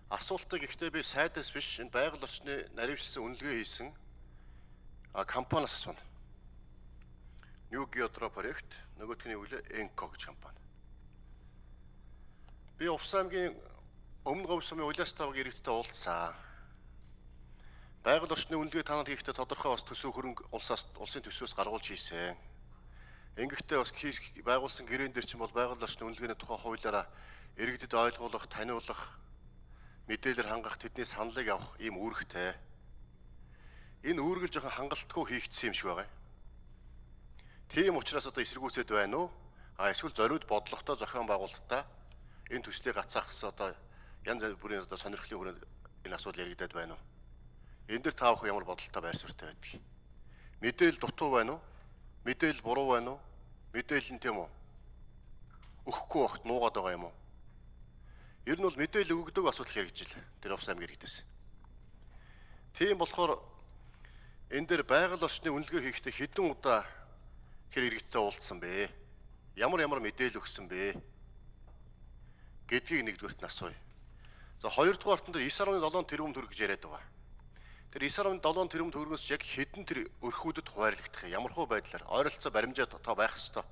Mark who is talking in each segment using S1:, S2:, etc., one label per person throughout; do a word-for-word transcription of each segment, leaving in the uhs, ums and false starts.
S1: асуултыг ихтэй би сайдаас биш энэ байгаль орчны наривчлсан үнэлгээ хийсэн компаниас асууна. New Geotro проект, нөгөөдхний үгээр Enco гэж компани. Би Увс аймгийн Өмнө Говь сумын Улаас тавг иргэдтэй уулзсан. Байгаль орчны үнэлгээ та нар хийхдээ тодорхой бас төсөв хөрөнгө улсаас улсын төсвөөс гаргуулж хийсэн. Ингэхдээ бас байгуулсан гэрээн дээр чинь бол байгаль орчны үнэлгээний тухай хуулиараа иргэдэд ойлгуулах, таниулах, мэдээлэл хангах, тэдний саналыг авах ийм үүрэгтэй. Энэ үүргэл жоохон хангалтгүй хийгдсэн юм шиг байгаа. Тийм учраас одоо эсэргүүцэд байна уу? А эсвэл зориуд бодлоготой зохион байгуулалтаа энэ төслийг гацаах гэсэн одоо янз бүрийн одоо сонирхлын хүрээнд энэ асуудал яригдаад байна уу? Энэ дэр та бүхэн ямар бодолтой байр суурьтай байдаг? Мэдээлэл дутуу байна уу? Мэдээлэл буруу байна уу? Мэдээлэл нь тийм үү? Өгөхгүй багт нуугаад байгаа юм уу? Ер нь бол мэдээлэл өгөгдөг асуудал хэрэгжил. Тэр Увс аймгийн иргэдээс. Тийм болохоор энэ дээр байгаль орчны үнэлгээ хийхдээ хэдэн удаа тэр иргэдтэй уулзсан бэ? Ямар ямар мэдээлэл өгсөн бэ? Гэдгийг нэгдүгээрт нь асууя. За хоёрдугаарт нь тэр девять дөрвөн тэрбум төгрөг гэж яриад байгаа. Тэр девять дөрвөн тэрбум төгрөгөөс яг хэдэн тэр өрхүүдэд хуваарлагдах юм? Ямархуу байдлаар ойролцоо баримжаа тоо байх ёстой.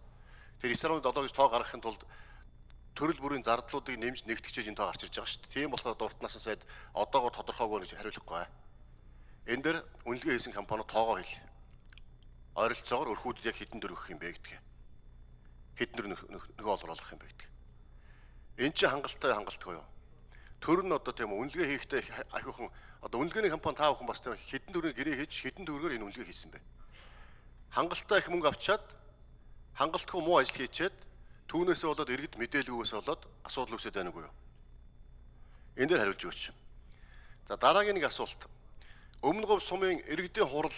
S1: Тэр девять дөрвөн гэж тоо гаргахын тулд төрөл бүрийн зардлуудыг нэмж нэгтгэж энэ тоо гарч ирж байгаа шүү дээ. Тийм болохоор дуртнаас сайд одоогоор тодорхойгүй гэж хариулахгүй. Энэ дээр үнэлгээ хийсэн компани тоогоо хэл. Ойролцоогоор өрхүүдэд яг хэдэн төгрөг өгөх юм бэ гэдгийг. Хэдэн нөгөө олруулах юм бэ гэдгийг. Энэ чинь хангалттай хангалтгүй юу? Төр нь одоо тийм үнэлгээ хийхдээ ахиухан одоо үнэлгээний компани таа бүхэн бас тийм хэдэн төгрөгийн гэрээ хийж хэдэн төгрөгөөр энэ үнэлгээ хийсэн бэ? Хангалттай их мөнгө авчаад хангалтгүй муу ажил хийчээд түүнээсээ болоод иргэд мэдээлгүйгээс болоод асуудал үүсэж байна уу юу? Энэ дээр хариулж өгөөч. За дараагийн нэг асуулт. Өмнө Говь сумын иргэдийн хурал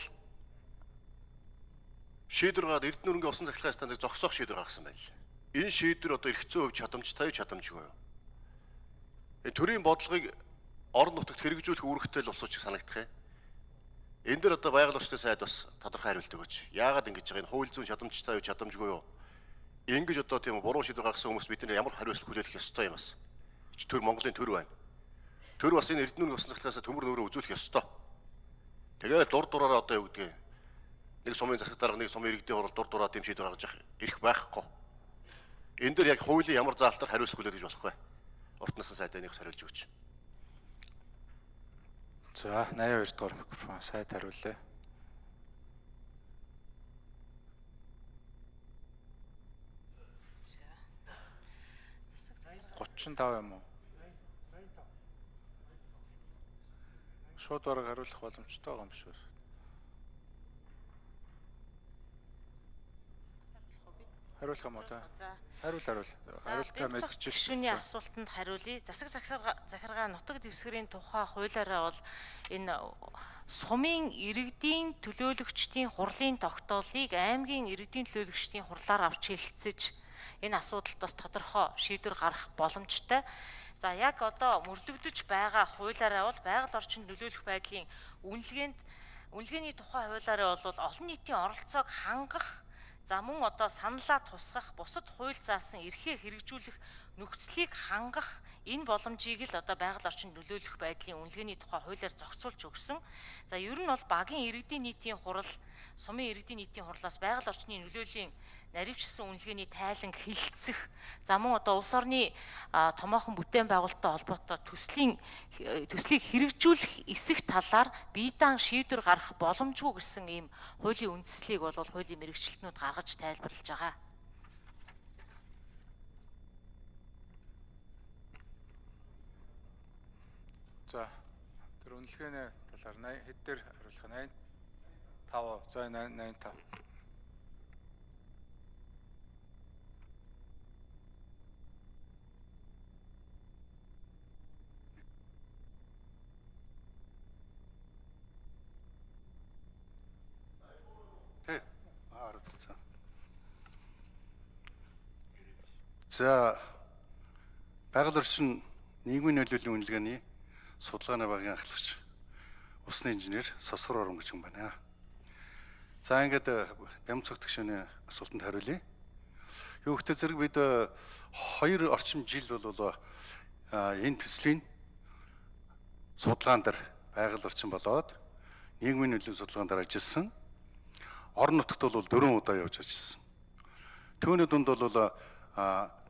S1: шийдвэр гаргаад Эрдэнэ өргөний усан цахилгаан станцыг зогсоох шийдвэр гаргасан байна. Энэ шийдвэр одоо эрх зүйн хувь чадамжтай юу чадамжгүй юу? Энэ төрийн бодлогыг орон нутагт хэрэгжүүлэх үүрэгтэй л улсууч санагдах юм. Энэ дээр одоо байгаль орчны сайд бас тодорхой хариулт өгөөч. Яагаад ингэж байгаа энэ хууль зүйн чадамжтай юу чадамжгүй юу? Ингэж одоо тийм буруу шийдвэр гаргасан хүмүүс бидний ямар хариуцлага хүлээх ёстой юм бас. Ч төр Монголын төр байна. Төр бас энэ Эрдэнэ өргөний усан цахилгаанаас төмөр нөрөө үзүүлэх ёстой. Тэгээд дур дураараа одоо юу гэдгийг нэг сумын засаг дарга нэг сумын иргэдийн хурал дур дураа тийм шийдвэр гаргаж явах эрх байхгүй. Энэ дээр яг хуулийн ямар заалтаар хариуцлага хүлээх гэж болох вэ? Уртнаас сайдынх хариулж өгч.
S2: За найа хоёр дахь микрофон сайд хариулъя. гучин тав юм уу? Шууд бараг хариулах боломжтой байгаа юм шүү. Хариулах юм уу та? Хариул хариул. Хариултаа мэдчихэж.
S3: Гишүүний асуултанд хариулъя. Засаг захиргаа нутаг дэвсгэрийн тухай хуулиараа бол энэ сумын иргэдийн төлөөлөгчдийн хурлын тогтоолыг аймгийн иргэдийн төлөөлөгчдийн хурлаар авч хэлэлцэж энэ асуудалд бас тодорхой шийдвэр гаргах боломжтой. За яг одоо мөрдөгдөж байгаа хуулиараа бол байгаль орчинд нөлөөлөх байдлын үнэлгээнд үнэлгээний тухай хуулиараа бол олон нийтийн оролцоог хангах, за мөн одоо саналаа тусгах, бусад хууль заасан эрхээ хэрэгжүүлэх нөхцөлийг хангах энэ боломжийг л одоо байгаль орчинд нөлөөлөх байдлын үнэлгээний тухай хуулиар зохицуулж өгсөн. За ер нь бол багийн иргэдийн нийтийн хурал, сумын иргэдийн нийтийн хурлаас байгаль орчны нөлөөлийн наривчлсан үнэлгээний тайлан хэлэлцэх, за мөн одоо улс орны томоохон бүтээн байгуулалттай холбоотой төслийн төслийг хэрэгжүүлэх эсэх талаар бие даан шийдвэр гаргах боломжгүй гэсэн ийм хуулийн үндслийг бол хуулийн мэрэгчлэтнүүд гаргаж тайлбарлаж байгаа.
S2: За тэр үнэлгээний талаар хэд дээр хариулах нь тав за найман тав.
S4: Тэ аа за байгаль орчин нийгмийн нөлөөллийн үнэлгээний судалгааны багийн ахлагч усны инженер Сосгор Орон гэж юм байна. За ингээд бям цогтгшөөний асуултанд хариулъя. Юу гэхдээ зэрэг бид хоёр орчим жил бол энэ төслийн судалгаан дээр байгаль орчин болоод нийгмийн нөлөөний судалгаан дээр ажилласан. Орон нутагт бол дөрвөн удаа явж ажилласан. Түүний дунд бол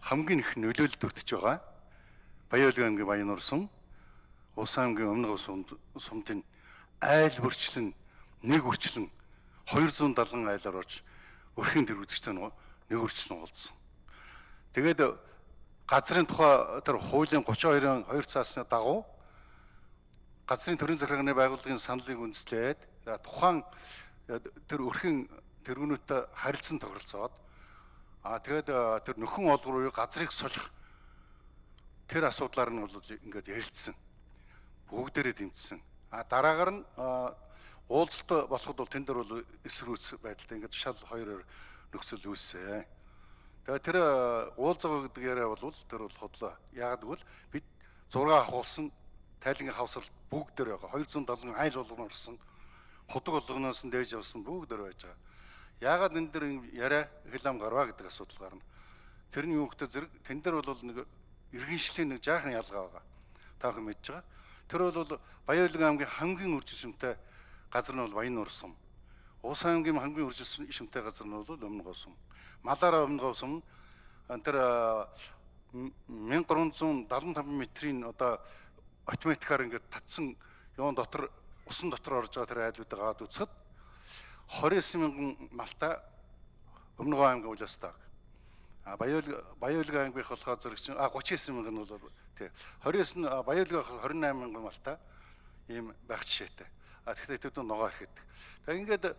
S4: хамгийн их нөлөөлөлд өртөж байгаа Баян-Улгийн аймгийн Баян сум, Улс аймгийн Өмнө Говь сумдын айл бүрчлэн нэг үрчлэн хоёр зуун далан айлаар орж өрхийн тэр үзэгчтэй нэг үрчлэн уулзсан. Тэгээд газрын тухай тэр хуулийн гучин хоёрын хоёр цаасны дагуу газрын төрийн захиргааны байгууллагын саналыг үндэслээд тухайн тэр өрхийн тэргүүнүүтэй харилцан тохиролцоод а тэгээд тэр нөхөн олгор уу газрыг солих тэр асуудлаар нь бол ингээд ярилцсан. Бүгдээрээ дэмжсэн. А дараагаар нь уулзалт болоход бол тэн дээр бол эсрүүц байдалтай ингээд шал хоёроор нөхцөл үүссэн. Тэгээд тэр уулзгаа гэдэг яриа бол тэр бол хотлоо. Яагаад гэвэл бид зураг авахулсан тайлангийн хавсралт бүгдээр байгаа. хоёр зуун седем айл болгоно орсон. Худаг болгоноос нь дээж явсан бүгдээр байж байгаа. Яагаад энэ дэр яриа хилам гарваа гэдэг асуудал гарна. Тэрний юу гэдэг зэрэг тэн дээр бол нэг иргэншлийн нэг жаахан ялгаа байгаа. Та бүхэн мэдж байгаа. Тэр бол Баян-Улгийн аймгийн хамгийн үржилшимтэй газар нь бол Баян сум. Улс аймгийн хамгийн үржилшимтэй газар нь бол Өмнө Говь сум. Малаараа Өмнө Говь сум тэр мянга гурван зуун седемдесет и пять метрийн одоо автоматикаар ингээд татсан юун дотор усан дотор орж байгаа тэр айлуудыг аваад үзэхэд двадцать девять мянган малтай Өмнө Говь аймгийн улаастаа. А Баян-Улгийн аймгийнх болохоор зэрэгчин а тридцать девять мянган нь бол тий двадцать девять Баян-Улгийн двадцать восемь мянган малтай ийм байх жишээтэй. А тэгэхээр тэд ногоо ирэхэд. Тэгээ ингээд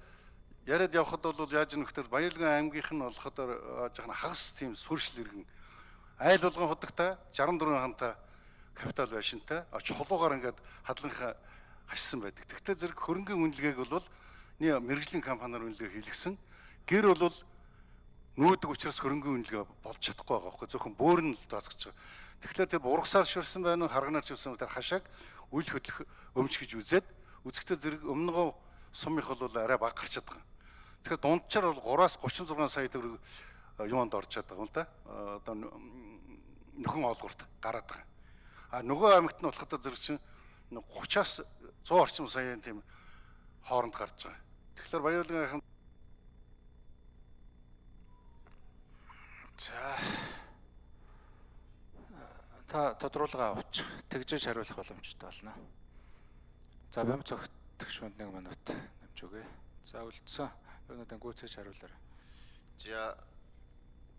S4: яриад явхад бол яаж нөхдөр Баян-Улгийн аймгийнх нь болохоор жоохон хагас тийм сүршил иргэн айл болгон худагтай шестьдесят четыре хантай капитал байшинтай чулуугаар ингээд хадланхаа хашсан байдаг. Тэгтээ зэрэг хөрөнгөний үнэлгээг бол нэг мэрэгжлийн компаниар үнэлгээ хийлгсэн. Гэр бол нүүдэг учраас хөрөнгөний үнэлгээ болж чадахгүй байгаа байхгүй зөвхөн бөөр нь л даацгаж байгаа. Тэгэхээр тэр ургасаар ширсэн байна уу харганаар ширсэн тэр хашааг үл хөдлөх өмч гэж үзээд үзэхдээ зэрэг Өмнө Говь сумынх бол арай бага гарчаад байгаа. Тэгэхээр дунджаар бол гураас тридцать шесть сая төгрөг юунд орж чаддаг юм л да. Одоо нөхөн олгорт гараад байгаа. А нөгөө аймагт нь болоход зэрэг чинь тридцать-аас сто орчим саяын тийм хооронд гарч байгаа. Тэгэхээр Баян-Улгийн
S2: за та тодруулга авч тэгжээж хариулах боломжтой болно. За бям цогтгч хүнд нэг минут нэмж өгье. За үлдсэн юунуудаа гүйцээж хариулаарай.
S1: За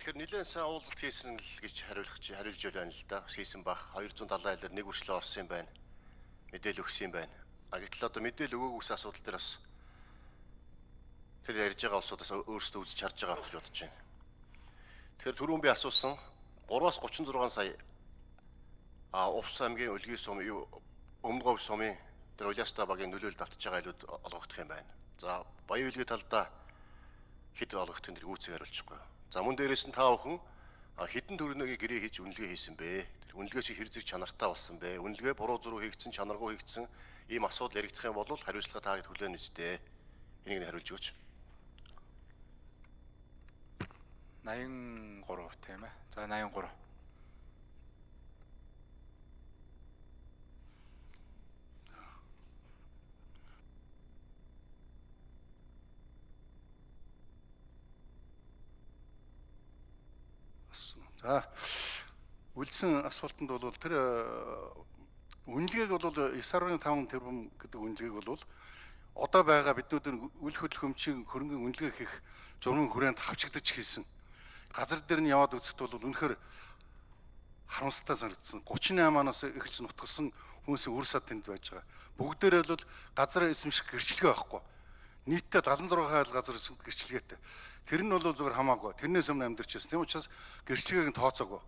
S1: тэгэхээр нэлээд сайн уулзалт хийсэн л гэж хариулах чи хариулж байна л да. Хийсэн бах хоёр зуун седемдесет айлаар нэг үрчлээ орсон юм байна. Мэдээл өгсөн юм байна. А гэтэл одоо мэдээл өгөөгүй асуудал дээр бас тэр ярьж байгаа улсуудаас өөрсдөө үзэж харж байгаа гэж бодож байна. Тэгэхээр түрүүн би асуусан тридцать-аас тридцать и шесть сая а Улс аймгийн Улгийн сум юу Өмнө Говь сумын тэр улаастаа багийн нөлөөлөлд автж байгаа айлууд олгогдох юм байна. За Баян-Улгийн талдаа хэд олгогдох нь гүйцэг хариулчихгүй. За мөн дээрээс нь та бүхэн хэдэн төгрөгийн гэрээ хийж үнэлгээ хийсэн бэ? Тэр үнэлгээ чи хэр зэрэг чанартай болсон бэ? Үнэлгээ буруу зуруу хийгдсэн, чанаргүй хийгдсэн ийм асуудал яригдах юм бол хариуцлага та хэд хүлээн үстэй. Энийг нь хариулж өгөөч.
S2: восемьдесят три тийм ээ. За восемьдесят три.
S4: За үлдсэн асуултанд бол тэр үнэлгээг бол девять нугтай пять тэрбум гэдэг үнэлгээг бол одоо байгаа биднүүд үл хөдлөх өмчийн хөрөнгөний үнэлгээ хийх журмын хүрээнд хавчигдаж хийсэн. Газар дээр нь яваад үзэхэд бол үнэхээр харамсалтай санагдсан. тридцать восемь-аас эхэлж нутгалсан хүмүүсийн үр сад тэнд байж байгаа. Бүгдээрээ бол газар эзэмших гэрчлэгээ байхгүй. Нийтдээ седемдесет и шесть хайл газар гэрчлэгээтэй. Тэр нь бол зүгээр хамаагүй. Тэрнээс өмнө амьдарч байсан. Тийм учраас гэрчлэгээг нь тооцоогүй.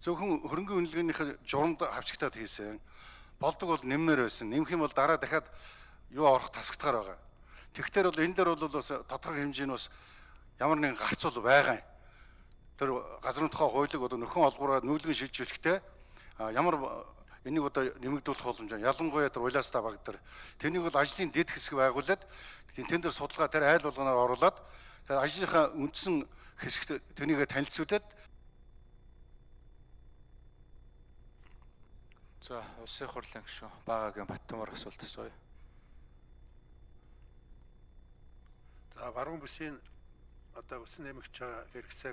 S4: Зөвхөн хөрөнгөний үнэлгээнийхээ журамд хавчигтаад хийсэн. Болдог бол нэммээр байсан. Нэмэх юм бол дараа дахиад юу орох тасагдгаар байгаа. Тэгэхээр бол энэ дээр бол бас тодорхой хэмжээний бас ямар нэгэн гарцуул байгаа юм. Тэр газрын тухай хуулийг одоо нөхөн олгороо нүүлгэн шилжүүлэхдээ ямар энийг одоо нэмэгдүүлэх боломж ялангуяа тэр улаастаа баг дээр тэнийг бол ажлын дэд хэсэг байгуулад тэн дээр судалгаа тэр айл болгоноор оруулаад тэр ажлынхаа үндсэн хэсэгт тэрнийг танилцуулаад
S2: За, улсын хурлын гишүүн Багаагийн Баттамар асуулт асууя.
S5: За баруун бүсийн одоо үсэн нэмэгч байгаа хэрэгцээ